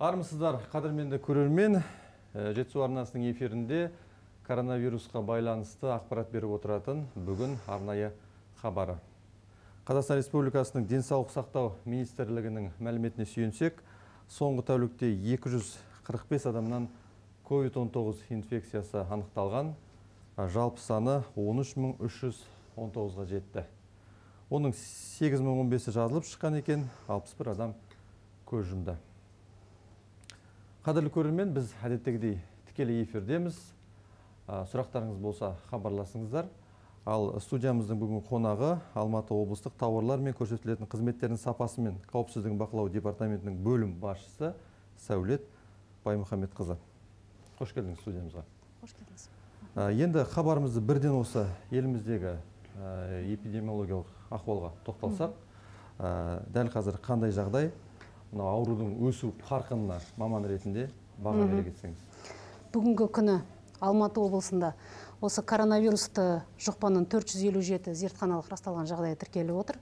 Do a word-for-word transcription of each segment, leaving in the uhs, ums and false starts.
Армысыздар, қадірменді көрермен. Жетісу арнасының эфирінде коронавирусқа байланысты ақпарат беріп отыратын бүгін арнайы хабары. Қазақстан Республикасының денсаулық сақтау министрлігінің мәліметіне сүйенсек, соңғы тәулікте екі жүз қырық бес адамнан ковид он тоғыз инфекциясы анықталған, жалпы саны он үш мың үш жүз он тоғызға жетті. Оның сегіз мың он бесі жазылып шыққан екен, алпыс бір адам көз жұмды. Қадірлі көрермен, біз әдеттегідей тікелей эфирдеміз. Сұрақтарыңыз болса хабарласыңыздар. Ал студиямыздың бүгін қонағы Алматы облыстық тауарлар мен көрсетілетін қызметтердің сапасы мен қауіпсіздігін бақылау департаментінің бөлім басшысы Сәулет Баймұхамедқызы. Қош келдіңіз студиямызға. Қош келдіңіз. Енді хабарымызды бірден осы еліміздегі эпидемиологиялық ахуалға тоқталсақ, дәл қазір қандай жағдай? Аурудың өсу қарқынына маман ретінде баға бере кетсеңіз. Бүгінгі күні Алматы облысында осы коронавирусты жұқпаның төрт жүз елу жеті зертханалық расталған жағдайы тіркеліп отыр.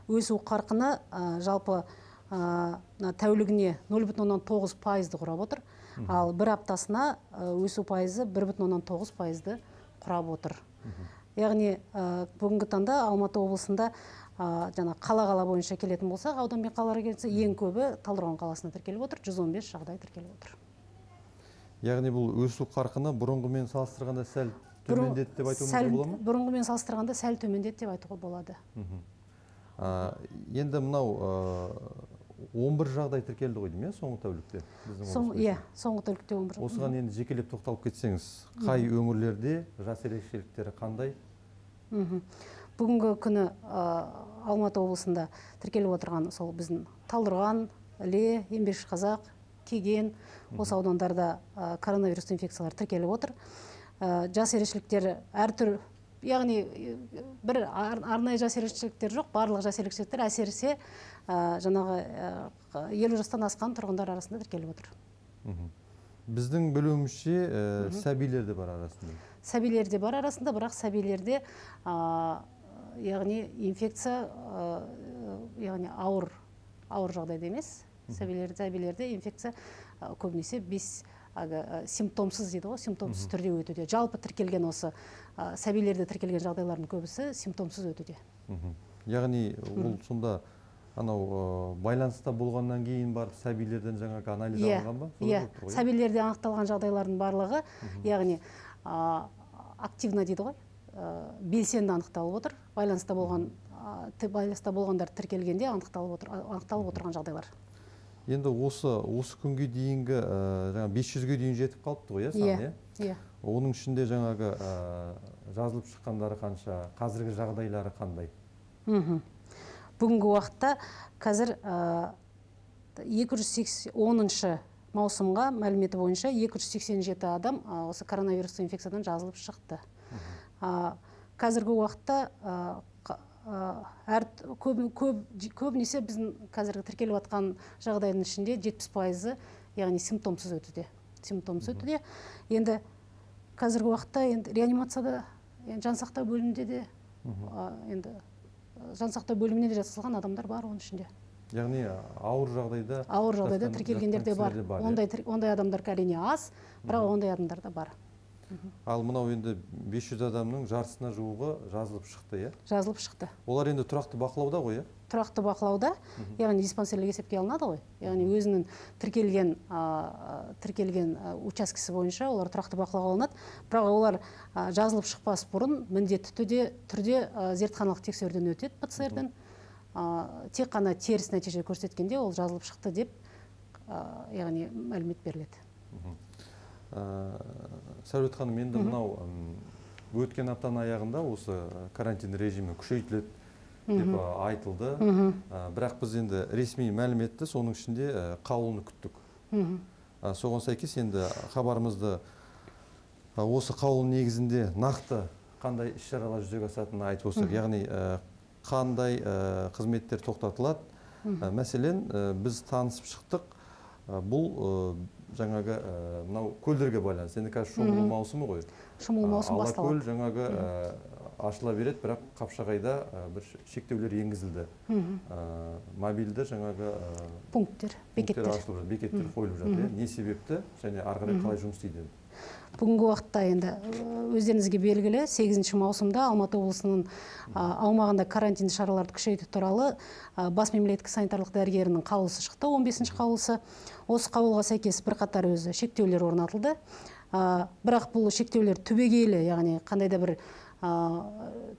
Өсу қарқыны жалпы тәулігіне нөл бүтін оннан тоғыз пайызды құрап отыр. Ал бір аптасына өсу пайызы бір бүтін оннан тоғыз пайызды құрап отыр. Яғни бүгінгі таңда Алматы облысында жаңа қала-қала бойынша келетін болсақ, аудан мен қалаларға келсе, ең көбі Талдықорған қаласына тіркеліп отыр, жүз он бес жағдай тіркеліп отыр. Яғни бұл өсу қарқыны бұрынғымен салыстырғанда сәл төмендеді деп айтуымызға бола ма? Бұрынғымен салыстырғанда сәл төмендеді деп айтуға болады. Енді мынау он бір жағдай тіркелді ғой деймін, соңғы тәулікте? Иә, соңғы тәулікте он бір. Осыған енді жекелеп тоқталып кетсеңіз, қай өңірлерде жас ерекшеліктері қандай? Бүгінгі күні Алматы облысында тіркеліп отырған сол біздің Талдықорған, Іле, Еңбекшіқазақ, Кеген, осы аудандарда коронавирус инфекциялар тіркеліп отыр. Жас ерекшеліктері әртүрлі, яғни бір арнайы жас ерекшеліктер жоқ, барлық жас ерекшеліктер әсіресе жаңағы елу жастан асқан тұрғындар арасында тіркеліп отыр. Біздің білуімізше сәбилерде бар арасында. Сәбилерде бар арасында, бірақ сәбилерде яғни инфекция, яғни ауыр ауыр жағдайда емес. Сәбилерде инфекция көбінесе бес симптомсыз дейді ғой, симптомсыз түрде өтуде. Жалпы тіркелген осы сәбилерде тіркелген жағдайлардың көбісі симптомсыз өтуде. Яғни ол сонда анау байланыста болғаннан кейін барып сәбилерден жаңағы анализ алынған ба? Иә, сәбилерде анықталған жағдайлардың барлығы, яғни активно дейді ғой, белсенді анықталып отыр. Байланыста болған байланыста болғандар тіркелгенде анықталып отырған жағдайлар. Енді осы осы күнге дейінгі бес жүзге дейін жетіп қалыпты ғой, иә? Иә. Оның ішінде жаңағы жазылып шыққандары қанша, қазіргі жағдайлары қандай? Бүгінгі уақытта қазір екі жүз оныншы маусымға мәліметі бойынша екі жүз сексен жеті адам осы коронавирус инфекциядан жазылып шықты. Қазіргі уақытта көбінесе біздің қазіргі тіркеліп атқан жағдайдың ішінде жетпіс пайызы, яғни симптомсыз өтуде. Симптомсыз өтуде. Енді қазіргі уақытта реанимацияда, жансақтау бөлімінде де енді жансақтау бөліміне де жатқызылған адамдар бар оның ішінде. Яғни ауыр жағдайда ауыр жағдайда тіркелгендер де бар. Ондай адамдар әрине аз, бірақ ондай адамдар да бар. Ал мынау енді бес жүз адамның жартысына жуығы жазылып шықты, иә? Жазылып шықты. Олар енді тұрақты бақылауда ғой, иә? Тұрақты бақылауда, яғни диспансерлік есепке алынады ғой. Яғни өзінің тіркелген тіркелген учаскесі бойынша олар тұрақты бақылауға алынады. Бірақ олар жазылып шықпас бұрын міндетті түрде зертханалық тексеруден өтеді, пэ цэ эрден. Тек қана теріс нәтиже көрсеткенде ол жазылып шықты деп, яғни мәлімет беріледі. Сәулет ханым, енді мынау өткен аптаның аяғында осы карантин режимі күшейтіледі деп айтылды. Бірақ біз енді ресми мәліметті соның ішінде қаулыны күттік. Соған сәйкес енді хабарымызды осы қаулы негізінде нақты қандай іс-шаралар жүзеге асатынын айтып болсақ, яғни қандай қызметтер тоқтатылады. Мәселен, біз танысып шықтық. Бұл жаңағы мынау көлдерге байланысты. Енді қазір шомылу маусымы ғой. Шомылу маусымы басталады. Алакөл жаңағы ашыла береді, бірақ Қапшағайда бір шектеулер енгізілді. Мобильді жаңағы пункттер, бекеттер ашылып жатыр, бекеттер қойылып жатыр. Не себепті және ары қарай қалай жұмыс істейді? Бүгінгі уақытта енді өздеріңізге белгілі сегізінші маусымда Алматы облысының аумағында карантин шараларды күшейту туралы бас мемлекеттік санитарлық дәрігерінің қаулысы шықты, он бесінші қаулысы. Осы қаулыға сәйкес бірқатар өзі шектеулер орнатылды. Бірақ бұл шектеулер түбегейлі, яғни қандай да бір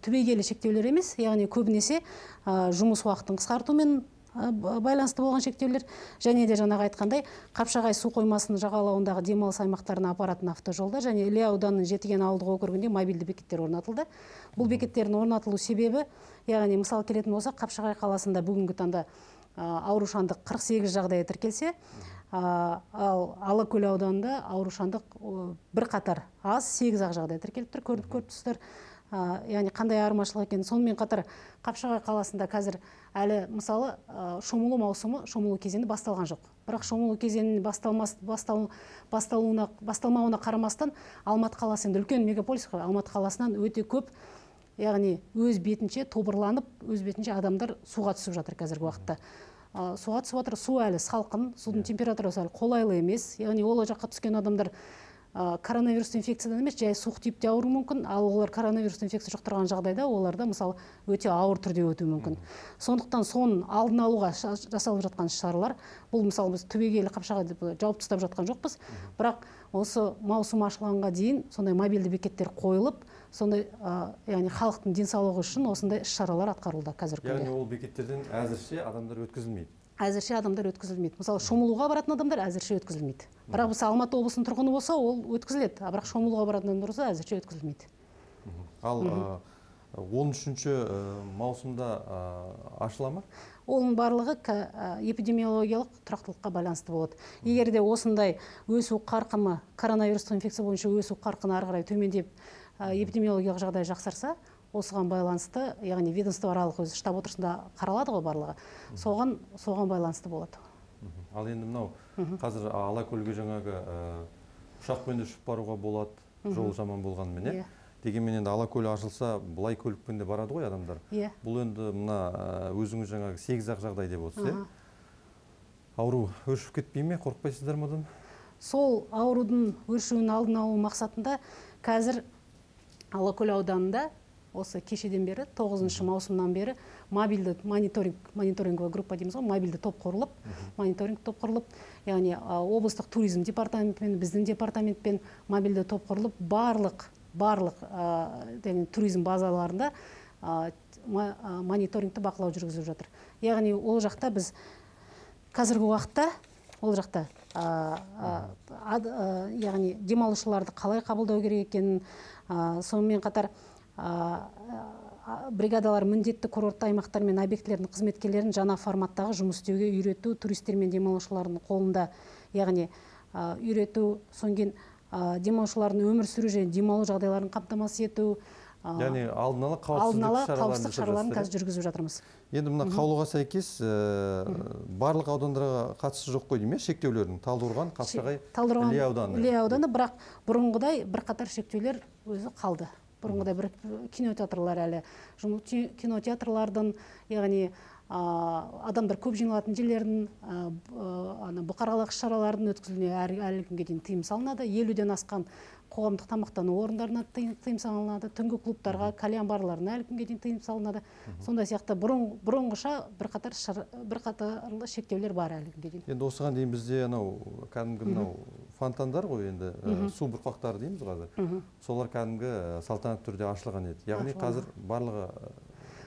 түбегейлі шектеулер емес, яғни көбінесе жұмыс уақытын қысқартумен байланысты болған шектеулер, және де жаңағы айтқандай Қапшағай су қоймасының жағалауындағы демалыс аймақтарына апаратын автожолда және Іле ауданының Жетіген ауылдық округінде мобильді бекеттер орнатылды. Бұл бекеттердің орнатылу себебі, яғни мысал келетін болсақ, Қапшағай қаласында бүгінгі таңда аурушаңдық қырық сегіз жағдайы тіркелсе, ал Алакөл ауданында аурушаңдық бір қатар аз сегіз ақ жағдай тіркеліп тұр, көріп көріп тұрсыздар. Яғни қандай айырмашылық екенін. Сонымен қатар Қапшағай қаласында қазір әлі мысалы шомылу маусымы, шомылу кезеңі басталған жоқ. Бірақ шомылу кезеңінің басталмауына қарамастан Алматы қаласы енді үлкен мегаполис қой, Алматы қаласынан өте көп, яғни өз бетінше тобырланып, өз бетінше адамдар суға түсіп жатыр қазіргі уақытта. Суға түсіп жатыр, су әлі салқын, судың температурасы әлі қолайлы емес. Яғни ол жаққа түскен адамдар коронавирус инфекциядан емес, жай суық типте ауыру мүмкін, ал олар коронавирус инфекция жұқтырған жағдайда оларда мысалы өте ауыр түрде өтуі мүмкін. Сондықтан соның алдын алуға жасалып жатқан шаралар, бұл мысалы біз түбегейлі Қапшағайды жауып тастап жатқан жоқпыз, бірақ осы маусым ашылғанға дейін сондай мобильді бекеттер қойылып, сондай яғни халықтың денсаулығы үшін осындай іс-шаралар атқарылуда қазіргі күнде. Яғни ол бекеттерден әзірше адамдар өткізілмейді. Әзірше адамдар өткізілмейді. Мысалы, шомылуға баратын адамдар әзірше өткізілмейді. Бірақ біз Алматы облысының тұрғыны болса, ол өткізіледі. Бірақ шомылуға баратын адамдар болса, әзірше өткізілмейді. Ал он үшінші маусымда ашыла ма? Оның барлығы эпидемиологиялық тұрақтылыққа байланысты болады. Егер де осындай өсу қарқыны, коронавирустық инфекция бойынша өсу қарқыны ары қарай төмендеп, эпидемиологиялық жағдай жақсарса, осыған байланысты, яғни ведомствоаралық өзі штаб отырысында қаралады ғой барлығы. Соған соған байланысты болады. Ал енді мынау қазір Алакөлге жаңағы ұшақпен де ұшып баруға болады, жол жаман болғанымен, дегенмен енді Алакөл ашылса, бұлай көлікпен де барады ғой адамдар. Бұл енді мына өзіңіз жаңағы сегіз ақ жағдай деп отырсыз, ауру өршіп кетпей ме, қорықпайсыздар ма одан? Сол аурудың өршуінің алдын алу мақсатында қазір Алакөл ауданында осы кешеден бері, тоғызыншы маусымнан бері мобильді мониторинг, мониторинговая группа дейміз ғой, мобильді топ құрылып, мониторинг топ құрылып, яғни облыстық туризм департаментпен, біздің департаментпен мобильді топ құрылып, барлық, барлық туризм базаларында мониторингті бақылау жүргізіп жатыр. Яғни ол жақта біз қазіргі уақытта, ол жақта яғни демалушыларды қалай қабылдау керек екенін, сонымен қатар бригадалар міндетті курортты аймақтар мен объектілердің қызметкерлерін жаңа форматтағы жұмыс істеуге үйрету, туристер мен демалушылардың қолында, яғни үйрету, соңген демалушылардың өмір сүру және демалу жағдайларын қамтамасыз ету, яғни алдын ала қауіпсіздік шараларын қазір жүргізіп жатырмыз. Енді мына қаулыға сәйкес барлық аудандарға қатысы жоқ қой дейме, шектеулердің Талдықорған, Қапшағай, Іле ауданы. Іле ауданы, бірақ бұрынғыдай бірқатар шектеулер өзі қалды. Бұрынғыдай бір кинотеатрлар әлі, кинотеатрлардың, яғни адамдар көп жиналатын жерлердің, бұқаралық шаралардың өткізілуіне әлі күнге дейін тыйым салынады. елуден асқан қоғамдық тамақтану орындарына тыйым салынады, түнгі клубтарға, кальян барларына әлі күнге дейін тыйым салынады. Сондай сияқты бұрынғыша бірқатарлы шектеулер бар әлі күнге дейін. Енді осыған дейін бізде анау кәдімгі мынау фонтандар ғой, енді су бұрқақтары дейміз қазір. Солар кәдімгі салтанатты түрде ашылған еді. Яғни қазір барлығы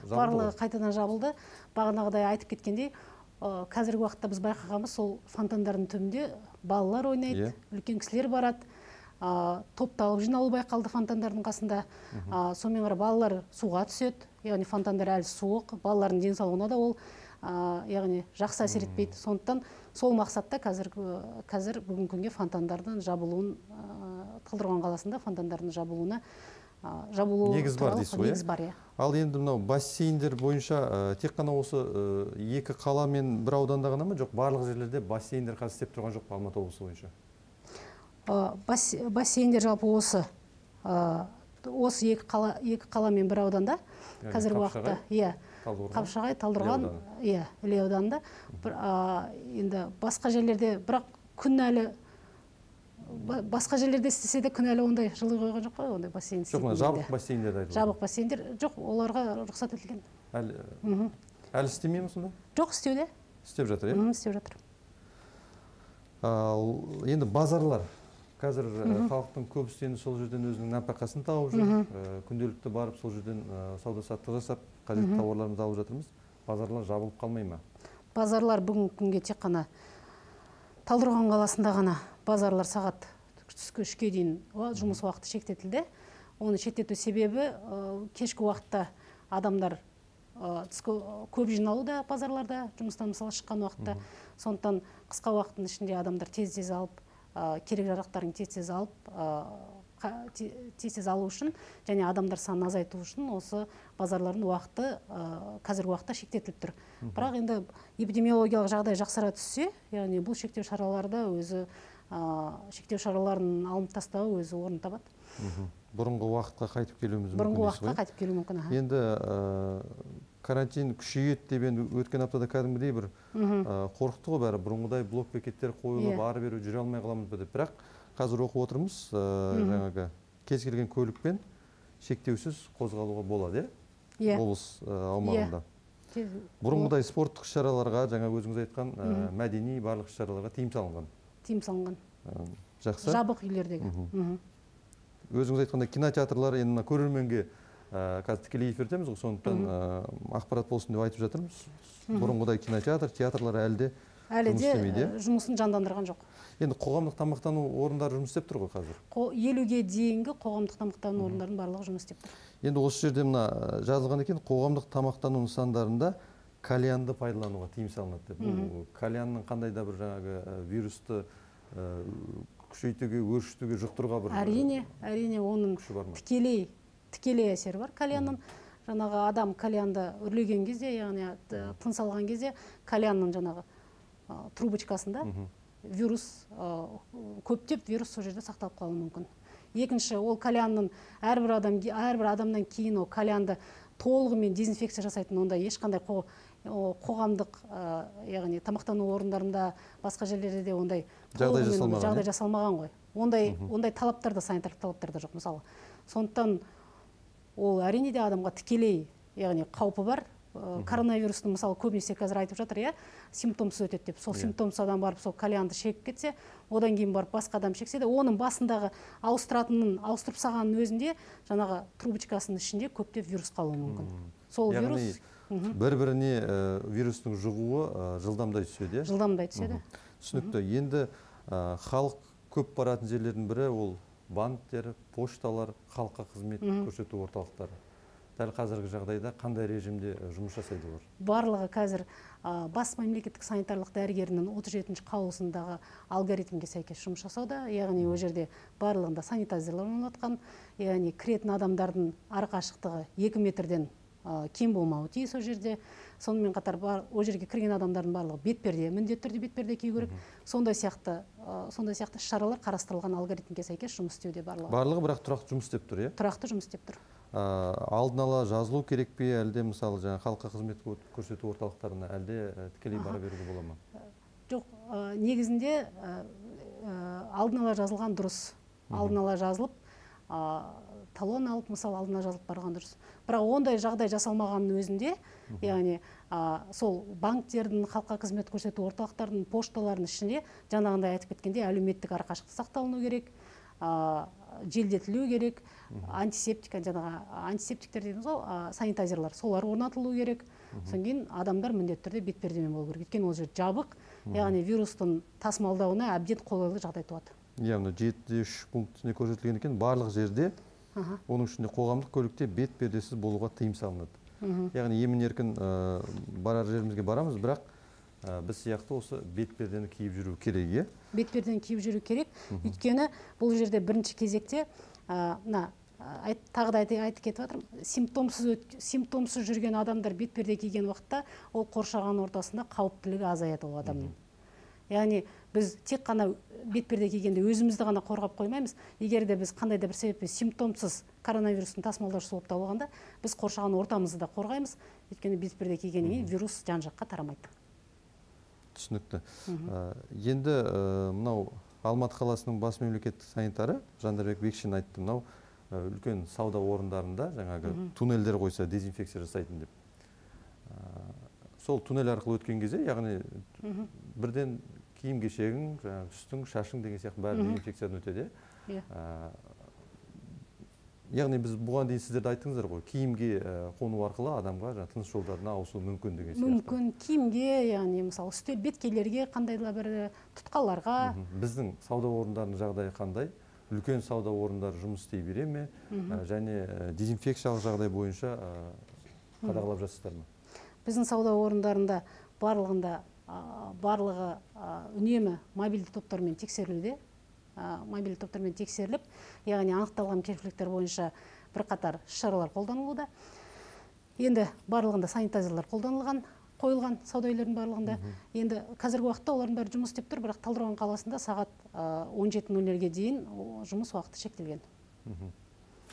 барлығы қайтадан жабылды. Бағанағыдай айтып кеткендей, қазіргі уақытта біз байқағанымыз, сол фонтандардың түбінде балалар ойнайды, үлкен кісілер барады. Топталып жиналу байқалды фонтандардың қасында. Сонымен қарай балалар суға түседі, яғни фонтандар әлі суық, балалардың денсаулығына да ол яғни жақсы әсер етпейді. Сондықтан сол мақсатта қазір бүгінгі күнге фонтандардың жабылуын, Талдықорған қаласында фонтандардың жабылуына негіз бар дейсіз ғой. Ал енді мынау бассейндер бойынша тек қана осы екі қала мен бір ауданда ғана ма, жоқ барлық жерлерде бассейндер қазір істеп тұрған жоқ па Алматы облысы бойынша? Бассейндер жалпы осы осы екі қала екі қала мен бір ауданда қазіргі уақытта, иә, Қапшағай, Талдықорған, иә, Іле ауданында. Енді басқа жерлерде, бірақ күн әлі басқа жерлерде істесе де күн әлі ондай жылы қойған жоқ қой, ондай бассейн істейтін. Жоқ, жабық бассейндер айтылды. Жабық бассейндер жоқ, оларға рұқсат етілген. Әлі әлі істемей ме сонда? Жоқ, істеуде. Істеп жатыр, иә? Істеп жатыр. Енді базарлар. Қазір халықтың көбісі енді сол жерден өзінің нәпақасын тауып жүр. Күнделікті барып сол жерден сауда-саттық жасап, қажетті тауарларымызды алып жатырмыз. Базарлар жабылып қалмай ма? Базарлар бүгінгі күнге тек қана Талдықорған қаласында ғана базарлар сағат түскі үшке дейін жұмыс уақыты шектетілді. Оны шектету себебі кешкі уақытта адамдар көп жиналуда базарларда, жұмыстан мысалы шыққан уақытта. Сондықтан қысқа уақыттың ішінде адамдар тез-тез алып, керек жарақтарын тез-тез алып, тез-тез алу үшін және адамдар санын азайту үшін осы базарлардың уақыты қазіргі уақытта шектетіліп тұр. Бірақ енді эпидемиологиялық жағдай жақсара түссе, яғни бұл шектеу шараларда өзі шектеу шараларын алынып тастауы өзі орын табады. Бұрынғы уақытқа қайтып келуіміз мүмкін. Бұрынғы уақытқа қайтып келуі мүмкін. Енді карантин күшейеді деп енді өткен аптада кәдімгідей бір қорқықты ғой бәрі. Бұрынғыдай блок бекеттер қойылып, ары бері жүре алмай қаламыз ба деп. Бірақ қазір оқып отырмыз, жаңағы кез келген көлікпен шектеусіз қозғалуға болады, иә? Облыс аумағында. Бұрынғыдай спорттық шараларға, жаңа өзіңіз айтқан мәдени барлық шараларға тыйым салынған. Тыйым салынған. Жақсы. Жабық үйлердегі. Өзіңіз айтқанда кинотеатрлар енді көрерменге қазір тікелей эфирдеміз ғой, сондықтан ақпарат болсын деп айтып жатырмыз. Бұрынғыдай кинотеатр, театрлар әлде әлі де жұмысын жандандырған жоқ. Енді қоғамдық тамақтану орындары жұмыс істеп тұр ғой қазір? елуге дейінгі қоғамдық тамақтану орындарының барлығы жұмыс істеп тұр. Енді осы жерде мына жазылған екен, қоғамдық тамақтану нысандарында кальянды пайдалануға тыйым салынады деп. Бұл кальянның қандай да бір жаңағы вирусты күшейтуге, өршітуге, жұқтыруға бір әрине, әрине оның тікелей тікелей әсері бар кальянның. Жаңағы адам кальянды үрлеген кезде, яғни тыныс алған кезде кальянның жаңағы трубочкасында вирус көптеп вирус сол жерде сақталып қалуы мүмкін. Екінші, ол кальянның әрбір адам әрбір адамнан кейін ол кальянды толығымен дезинфекция жасайтын онда ешқандай қоғамдық, яғни тамақтану орындарында, басқа жерлерде де ондай жағдай жасалмаған ғой. Ондай ондай талаптар да, санитарлық талаптар да жоқ мысалы. Сондықтан ол әрине де адамға тікелей, яғни қаупі бар. Коронавирустың мысалы көбінесе қазір айтып жатыр, иә, симптомсыз өтеді деп. Сол симптомсыз адам барып сол кальянды шегіп кетсе, одан кейін барып басқа адам шексе де, оның басындағы ауыстыратынын ауыстырып салғанның өзінде жаңағы трубочкасының ішінде көптеп вирус қалуы мүмкін. Сол вирус бір-біріне вирустың жұғуы жылдамдай түседі. Жылдамдай түседі. Түсінікті. Енді халық көп баратын жерлердің бірі ол банктер, пошталар, халыққа қызмет көрсету орталықтары. Дәл қазіргі жағдайда қандай режимде жұмыс жасайды олар? Барлығы қазір бас мемлекеттік санитарлық дәрігерінің отыз жетінші қаулысындағы алгоритмге сәйкес жұмыс жасауда. Яғни ол жерде барлығында санитайзерлар орнатқан, яғни кіретін адамдардың арақашықтығы екі метрден кем болмауы тиіс ол жерде. Сонымен қатар ол жерге кірген адамдардың барлығы бетперде, міндетті түрде бетперде кию керек. Сондай сияқты сондай сияқты шаралар қарастырылған алгоритмге сәйкес жұмыс істеуде барлығы. Барлығы бірақ тұрақты жұмыс істеп тұр, иә? Тұрақты жұмыс істеп тұр. Алдын ала жазылу керек пе, әлде мысалы жаңа халыққа қызмет көрсету орталықтарына әлде тікелей бара беруге бола ма? Жоқ, негізінде алдын ала жазылған дұрыс. Алдын ала жазылып, талон алып, мысалы алдына жазылып барған дұрыс. Бірақ ондай жағдай жасалмағанның өзінде, яғни сол банктердің, халыққа қызмет көрсету орталықтарының, пошталардың ішінде жаңағындай айтып кеткенде әлеуметтік арақашықтық сақталыну керек, желдетілу керек, антисептика, жаңағы антисептиктер дейміз ғой, санитайзерлар, солар орнатылу керек. Содан кейін адамдар міндетті түрде бетпердемен болу керек. Өйткені ол жер жабық, яғни вирустың тасымалдауына әбден қолайлы жағдай туады. Яғни жеті үш пунктіне көрсетілген екен, барлық жерде, оның ішінде қоғамдық көлікте бетпердесіз болуға тыйым салынады. Яғни емін-еркін барар жерімізге барамыз, бірақ біз сияқты осы бетпердені киіп жүру керек, е? Бетпердені киіп жүру керек. Өйткені бұл жерде бірінші кезекте, тағы да айтып кетіп жатырмын, симптомсыз жүрген адамдар бетперде киген уақытта ол қоршаған ортасында қауіптілігі азаяды ол адамның. Яғни біз тек қана бетперде кигенде өзімізді ғана қорғап қоймаймыз. Егер де біз қандай да бір себеппен симптомсыз коронавирустың тасымалдаушысы болып табылғанда, біз қоршаған ортамызды да қорғаймыз. Өйткені бетперде кигеннен кейін вирус жан жаққа тарамайды. Түсінікті. Енді мынау Алматы қаласының бас мемлекеттік санитары Жандарбек Бекшин айтты, мынау үлкен сауда орындарында жаңағы туннельдер қойса дезинфекция жасайтын деп. Сол туннель арқылы өткен кезде, яғни бірден киім кешегің, үстің, шашың деген сияқты бәрі дезинфекциядан өтеді. Яғни біз бұған дейін сіздерді айттыңыздар ғой, киімге қону арқылы адамға тыныс жолдарына ауысу мүмкін деген сияқты. Мүмкін киімге, яғни мысалы үстел беткейлерге, қандай да бір тұтқаларға. Біздің сауда орындарының жағдайы қандай? Үлкен сауда орындары жұмыс істей бере ме? Және дезинфекциялық жағдай бойынша қадағалап жатсыздар ма? Біздің сауда орындарында барлығында барлығы үнемі мобильді топтармен тексерілуде. Мобильді топтармен тексеріліп, яғни анықталған кемшіліктер бойынша бірқатар шаралар қолданылуда. Енді барлығында санитайзерлер қолданылған, қойылған сауда үйлерінің барлығында. Енді қазіргі уақытта олардың бәрі жұмыс істеп тұр, бірақ Талдықорған қаласында сағат он жеті нөл нөлге дейін жұмыс уақыты шектелген.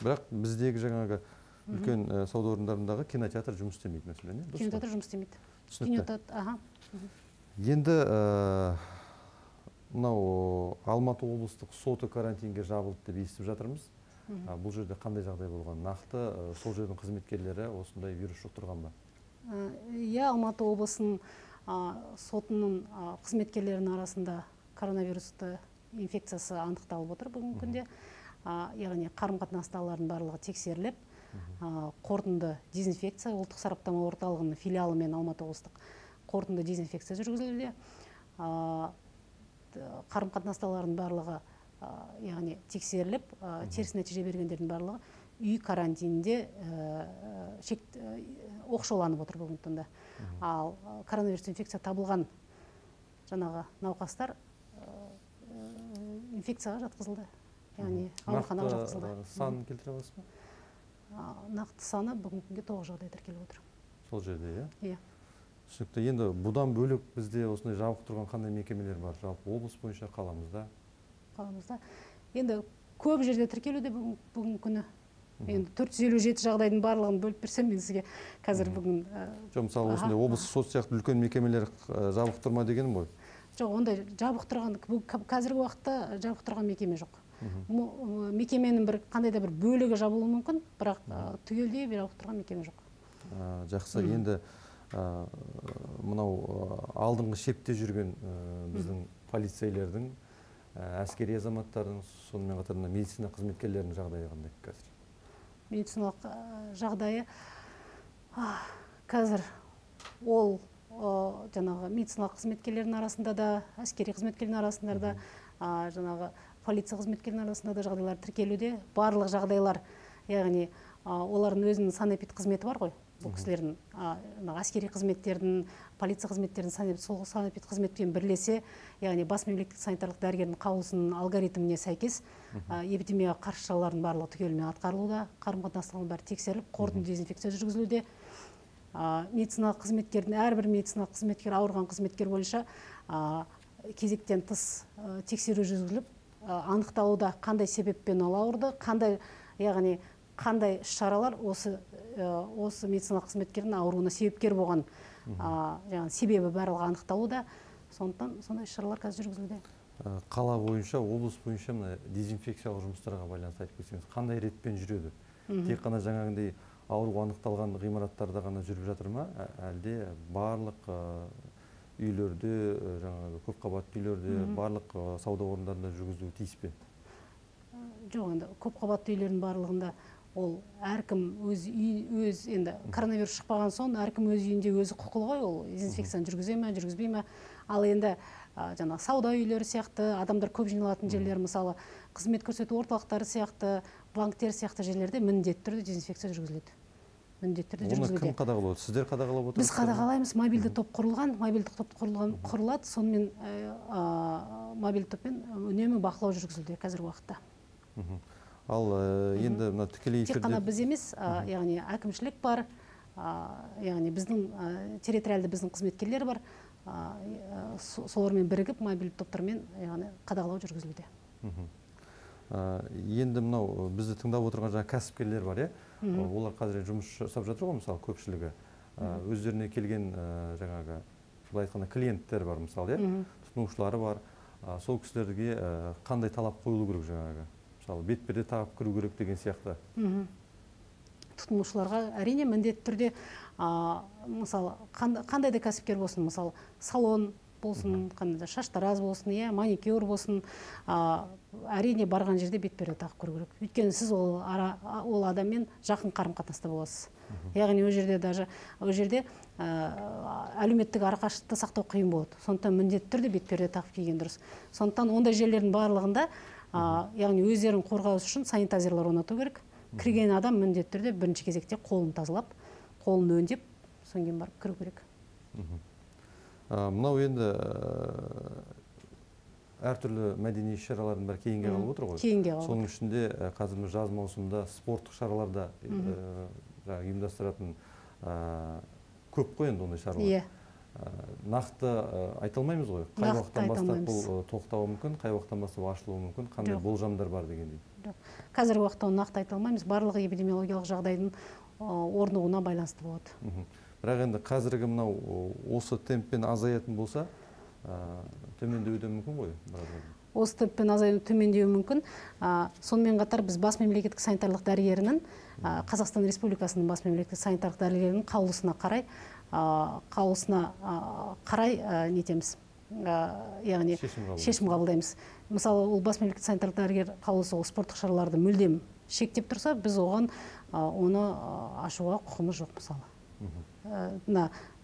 Бірақ біздегі жаңағы үлкен сауда орындарындағы кинотеатр жұмыс істемейді мәселен. Кинотеатр жұмыс істемейді. Енді мынау Алматы облыстық соты карантинге жабылды деп естіп жатырмыз. Бұл жерде қандай жағдай болған? Нақты сол жердің қызметкерлері осындай вирус жұқтырған ба? Иә, Алматы облысының сотының қызметкерлерінің арасында коронавирусты инфекциясы анықталып отыр бүгінгі күнде. Яғни қарым-қатынастағылардың барлығы тексеріліп, қорытынды дезинфекция ұлттық сараптама орталығының филиалы мен Алматы облыстық қорытынды дезинфекция жүргізілуде. Қарым-қатынастағылардың барлығы яғни тексеріліп, теріс нәтиже бергендердің барлығы үй карантинінде оқшауланып отыр бүгінгі таңда. Ал коронавирус инфекция табылған жаңағы науқастар инфекцияға жатқызылды. Яғни ауруханаға жатқызылды. Санын келтіре аласыз ба? Нақты саны бүгінгі күнге тоғыз жағдай тіркеліп отыр. Сол жерде, иә? Иә. Түсінікті. Енді бұдан бөлек бізде осындай жабық тұрған қандай мекемелер бар? Жалпы облыс бойынша қаламызда? Қаламызда. Енді көп жерде тіркелуде бүгінгі күні. Енді төрт жүз елу жеті жағдайдың барлығын бөліп берсем, мен сізге қазір бүгін... Жоқ, мысалы осындай облыс сот сияқты үлкен мекемелер жабық тұрма дегенім ғой? Жоқ, ондай жабық тұрған, қазіргі уақытта жабық тұрған мекеме жоқ. Мекеменің бір қандай да бір бөлігі жабылуы мүмкін, бірақ түгелдей жабық тұрған мекеме жоқ. Жақсы, енді мынау алдыңғы шепте жүрген біздің полицейлердің, әскери азаматтардың, сонымен қатар медицина қызметкерлерінің жағдайы қандай қазір? Медициналық жағдайы қазір ол жаңағы медициналық қызметкерлердің арасында да, әскери қызметкерлердің арасында да, жаңағы полиция қызметкерлерінің арасында да жағдайлар тіркелуде. Барлық жағдайлар, яғни олардың өзінің санэпид қызметі бар ғой. Бұл кісілердің әскери қызметтердің, полиция қызметтердің сол санэпид қызметпен бірлесе, яғни бас мемлекеттік санитарлық дәрігердің қаулысының алгоритміне сәйкес эпидемияға қарсы шаралардың барлығы түгелімен атқарылуда, қарым-қатынастардың бәрі тексеріліп, қорытынды дезинфекция жүргізілуде. Медициналық қызметкердің, әрбір медициналық қызметкер, ауырған қызметкер бойынша кезектен тыс тексеру жүргізіліп, анықталуда қандай себеппен ол ауырды, қандай, яғни қандай шаралар осы осы медициналық қызметкердің ауруына себепкер болған себебі барлығы анықталуда. Сондықтан сондай шаралар қазір жүргізілуде. Қала бойынша, облыс бойынша дезинфекциялық жұмыстарға байланысты айтып кетсеңіз, қандай ретпен жүреді? Тек қана жаңағындай ауру анықталған ғимараттарда ғана жүріп жатыр ма, әлде барлық үйлерде, жаңағы көпқабатты үйлерде, барлық сауда орындарында жүргізілуі тиіс пе? Жоқ, енді көпқабатты үйлердің барлығында ол әркім өз өз енді коронавирус шықпаған соң әркім өз үйінде өзі құқылы ғой, ол дезинфекцияны жүргізе ме, жүргізбей ме. Ал енді жаңа сауда үйлері сияқты, адамдар көп жиналатын жерлер, мысалы қызмет көрсету орталықтары сияқты, банктер сияқты жерлерде міндетті түрде дезинфекция жүргізіледі. Міндетті түрде жүргізілуде. Оны кім қадағалайды? Сіздер қадағалап отырсыздар? Біз қадағалаймыз, мобильді топ құрылған, мобильді топ құрылады, сонымен мобильді топпен үнемі бақылау жүргізілуде қазіргі уақытта. Ал енді тікелей эфирде... Тек қана біз емес, яғни әкімшілік бар, яғни біздің территориалды біздің қызметкерлер бар, солармен бірігіп мобильді топтармен яғни қадағалау жүргізілуде. Енді мынау бізді тыңдап отырған жаңа кәсіпкерлер бар, е? Олар қазір жұмыс жасап жатыр ғой, мысалы, көпшілігі. Өздеріне келген жаңағы, былай айтқанда, клиенттер бар, мысалы, е? Тұтынушылары бар. Сол кісілерге қандай талап қойылу керек жаңағы? Мысалы, бетперде тағып кіру керек деген сияқты. Тұтынушыларға әрине міндетті түрде, мысалы, қандай да кәсіпкер болсын, мысалы, салон болсын, шаштараз болсын, маникюр болсын, әрине барған жерде бетперде тағып кіру керек. Өйткені сіз ол адаммен жақын қарым-қатынаста боласыз. Яғни ол жерде даже ол жерде әлеуметтік арақашықтықты сақтау қиын болады. Сондықтан міндетті түрде бетперде тағып киген дұрыс. Сондықтан ондай жерлердің барлығында, яғни өздерін қорғау үшін санитайзерлар орнату керек. Кірген адам міндетті түрде бірінші кезекте қолын тазалап, қолын өңдеп, содан кейін барып кіру керек. Мынау енді әртүрлі мәдени шаралардың бәрі кейінге қалып отыр ғой. Кейінге қалып. Соның ішінде қазір жаз маусымында спорттық шараларда ұйымдастыратын көп қой енді ондай шаралар. Нақты айта алмаймыз ғой. Қай уақыттан бастап бұл тоқтауы мүмкін, қай уақыттан бастап ашылуы мүмкін, қандай болжамдар бар дегендей. Қазіргі уақытта нақты айта алмаймыз. Барлығы эпидемиологиялық жағдайдың орнығуына байланысты болады. Бірақ енді қазіргі мынау осы темппен азаятын болса, төмендеуі мүмкін ғой? Осы темппен азаюы төмендеуі мүмкін. Сонымен қатар біз бас мемлекеттік санитарлық дәрігерінің, Қазақстан Республикасының бас мемлекеттік санитарлық дәрігерінің қаулысына қарай, қаулысына қарай нетеміз, яғни шешім қабылдаймыз. Мысалы, ол бас мемлекеттік санитарлық дәрігер қаулысы спорттық шараларды мүлдем шектеп тұрса, біз оған оны ашуға құқымыз жоқ, мысалы.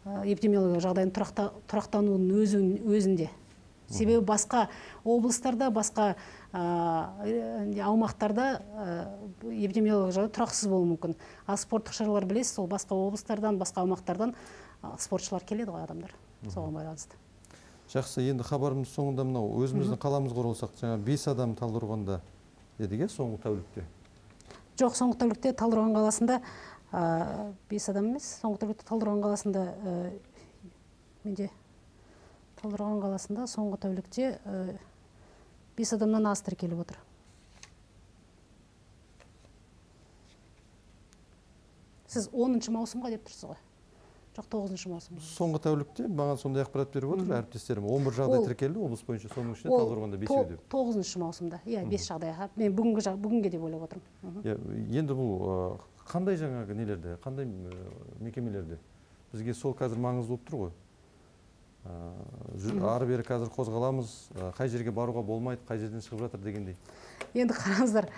Эпидемиологиялық жағдайдың тұрақтануының өзінде. Себебі басқа облыстарда, басқа аумақтарда эпидемиологиялық жағдай тұрақсыз болуы мүмкін. А спорттық шаралар білесіз, сол басқа облыстардан, басқа аумақтардан спортшылар келеді ғой адамдар. Соған байланысты. Жақсы, енді хабарымыз соңында мынау өзіміздің қаламызға оралсақ, жаңа бес адам Талдықорғанда дедік, соңғы тәулікте? Жоқ, соңғы тәулікте Талдықорған қаласында бес адам емес, соңғы тәулікте Талдықорған қаласында менде Талдықорған қаласында соңғы тәулікте бес адамнан аз тіркеліп отыр. Сіз оныншы маусымға деп тұрсыз ғой? Жоқ, тоғызыншы маусым. Соңғы тәулікте маған сондай ақпарат беріп отыр, әріптестерім. он бір жағдай тіркелді, облыс бойынша, соның ішінде Талдықорғанда бесеу деп. тоғызыншы маусымда, иә, бес жағдайға. Мен бүгінге деп ойлап отырмын. Енді бұл қандай жаңағы нелерде, қандай мекемелерде? Бізге сол қазір маңызды болып тұр ғой. Ары бері қазір қозғаламыз, қай жерге баруға болмайды, қай жерден шығып жатыр дегендей. Енді қараңыздар,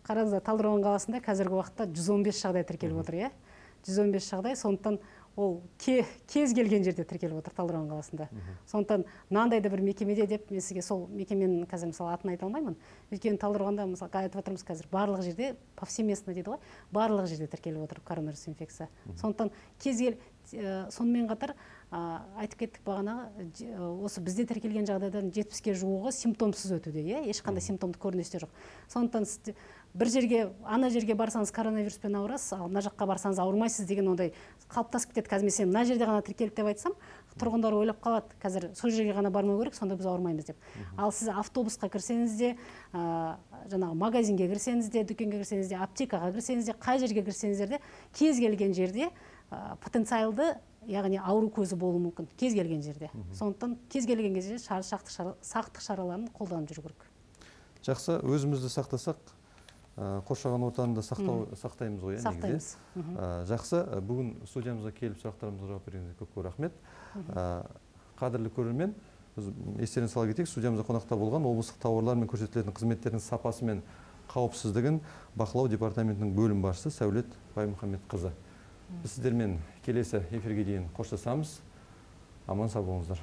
қараңыздар, Талдықорған қаласында қазіргі уақытта жүз он бес жағдай тіркеліп отыр, иә? жүз он бес жағдай, сондықтан ол кез келген жерде тіркеліп отыр Талдықорған қаласында. Сондықтан мынандай да бір мекемеде деп, мен сізге сол мекеменің қазір мысалы атын айта алмаймын. Өйткені Талдықорғанда мысалы айтып отырмыз қазір барлық жерде, повсеместно дейді ғой, барлық жерде тіркеліп отыр коронавирус инфекция. Сондықтан кез кел сонымен қатар айтып кеттік бағанағы, осы бізде тіркелген жағдайдан жетпіске жуығы симптомсыз өтуде, ешқандай симптомды көріністер жоқ. Сондықтан бір жерге, ана жерге барсаңыз коронавируспен ауырасыз, ал мына жаққа барсаңыз ауырмайсыз деген ондай қалыптасып кетеді. Қазір мен мына жерде ғана тіркеліп деп айтсам, тұрғындар ойлап қалады, қазір сол жерге ғана бармау керек, сонда біз ауырмаймыз деп. Ал сіз автобусқа кірсеңіз де, жаңағы магазинге кірсеңіз де, дүкенге кірсеңіз де, аптекаға кірсеңіз де, қай жерге кірсеңіздер де, кез келген жерде потенциалды, яғни ауру көзі болуы мүмкін, кез келген жерде. Сондықтан кез келген кезде сақтық шараларын қолданып жүру керек. Жақсы, өзімізді сақтасақ, қоршаған ортаны да сақтаймыз ғой, негізі. Сақтаймыз. Жақсы, бүгін студиямызға келіп сұрақтарымызға жауап бергеніңізге көп-көп рахмет. Қадірлі көрермен, естеріңізге сала кетейік, студиямызда қонақта болған облыстық тауарлар мен көрсетілетін қызметтердің сапасы мен қауіпсіздігін бақылау департаментінің бөлім басшысы Сәулет Баймұхамбетқызы. Біз сіздермен келесі эфирге дейін қоштасамыз. Аман сау болыңыздар.